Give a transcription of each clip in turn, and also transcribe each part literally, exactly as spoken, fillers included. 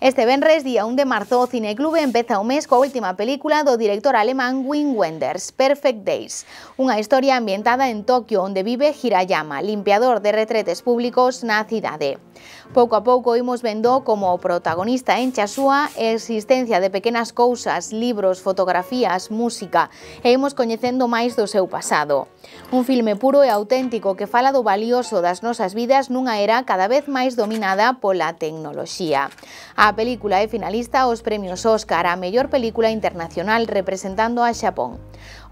Este venres, día un de marzo, o Cineclube empeza o mes coa última película do director alemán Wim Wenders, Perfect Days, unha historia ambientada en Tokio onde vive Hirayama, limpiador de retretes públicos na cidade. Pouco a pouco imos vendo como o protagonista enche a súa existencia de pequenas cousas, libros, fotografías, música, e imos coñecendo máis do seu pasado. Un filme puro e auténtico que fala do valioso das nosas vidas nunha era cada vez máis dominada pola tecnoloxía. A película é finalista aos premios Óscar a mellor película internacional representando a Xapón.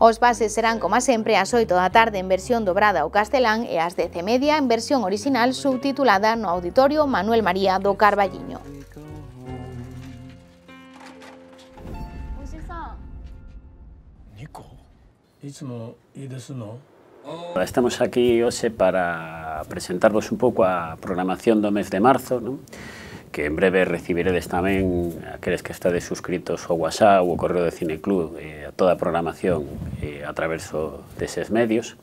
Os pases serán, como sempre, ás oito da tarde en versión dobrada ao castelán e ás dez e media en versión original subtitulada no Auditorio Manuel María do Carballiño. Estamos aquí hoxe para presentarvos un pouco a programación do mes de marzo, non? Que en breve recibiredes tamén aqueles que estades suscritos ao WhatsApp ou ao correo de Cineclub, eh, a toda a programación eh, a través deses medios.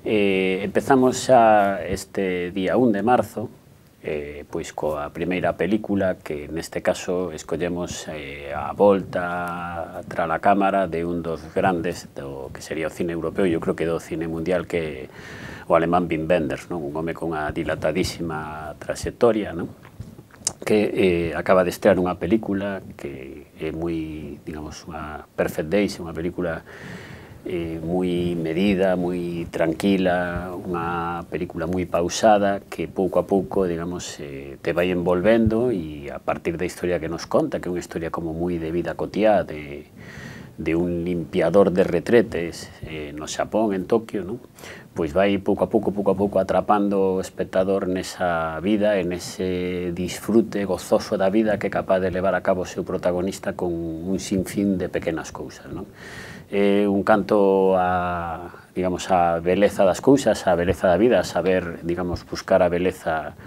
Eh, empezamos xa este día un de marzo, eh, pois coa primeira película que neste caso escollemos eh, a volta tra a cámara de un dos grandes do que sería o cine europeo, eu creo que do cine mundial, que o alemán Wim Wenders, non? Un home con unha dilatadísima trayectoria, non? Que eh, acaba de estrear unha película que é moi, digamos, unha Perfect Days, unha película eh, moi medida, moi tranquila, unha película moi pausada que pouco a pouco, digamos, eh, te vai envolvendo, e a partir da historia que nos conta, que é unha historia como moi de vida cotiá, de, de un limpiador de retretes eh, no Xapón, en Tokio, non? Pois vai pouco a pouco, pouco a pouco atrapando o espectador nesa vida, en ese disfrute gozoso da vida que é capaz de levar a cabo o seu protagonista con un sinfín de pequenas cousas, non? É un canto a, digamos, a beleza das cousas, a beleza da vida, a saber, digamos, buscar a beleza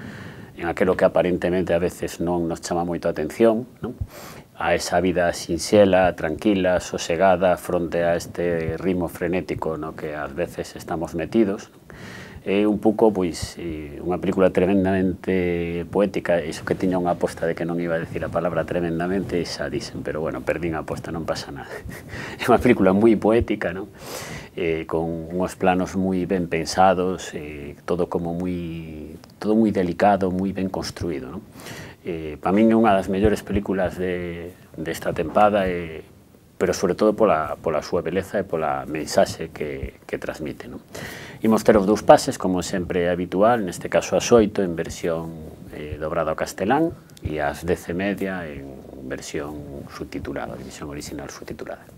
en aquilo que aparentemente a veces non nos chama moito a atención, non? A esa vida sinxela, tranquila, sosegada, fronte a este ritmo frenético no que ás veces estamos metidos. É un pouco, pois, unha película tremendamente poética, iso que tiña unha aposta de que non iba a decir a palabra tremendamente, xa dixen, pero bueno, perdín a aposta, non pasa nada. É unha película moi poética, non? Eh, con uns planos moi ben pensados, eh, todo como moi, todo moi delicado, moi ben construído, non? Eh, para min é unha das mellores películas de, desta tempada, eh, pero sobre todo pola, pola súa beleza e pola mensaxe que, que transmite, non? Imos ter os dous pases, como sempre é habitual, neste caso ás oito en versión eh, dobrada ao castelán e ás dez e media en versión subtitulada, versión original subtitulada.